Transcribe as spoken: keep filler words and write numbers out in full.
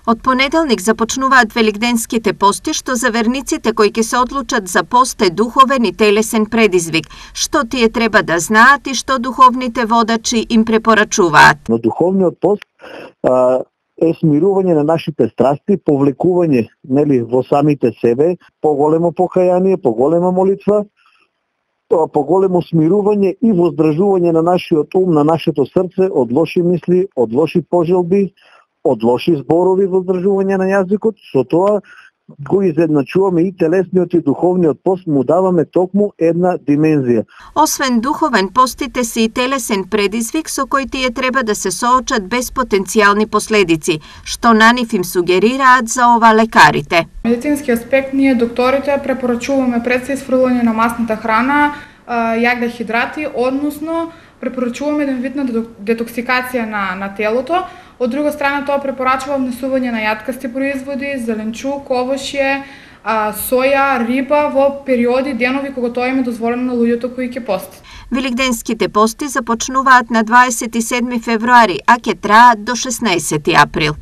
Од понеделник започнуваат великденските пости, што за верниците кои ќе се одлучат за пост е духовен и телесен предизвик. Што тие треба да знаат и што духовните водачи им препорачуваат? Но духовниот пост а, е смирување на нашите страсти, повлекување, нели, во самите себе, поголемо покаяние, поголема молитва, поголемо смирување и воздржување на нашиот ум, на нашето срце од лоши мисли, од лоши пожелби, од лоши зборови, воздржување на јазикот. Со тоа го изедначуваме и телесниот и духовниот пост, му даваме токму една димензија. Освен духовен, постите се и телесен предизвик со кој тие треба да се соочат без потенцијални последици, што на нив им сугерираат за ова лекарите. Медицински аспект, ние докторите препорачуваме пред се исфрлање на масната храна, јагда хидрати, односно препорачуваме еден вид на детоксикација на, на телото. Од друга страна, тоа препорачува внесување на јаткасти производи, зеленчук, овошје, соја, риба во периоди, денови кога тоа им е дозволено на луѓето кои ќе постат. Великденските пости започнуваат на дваесет и седми февруари, а ќе траат до шеснаесети април.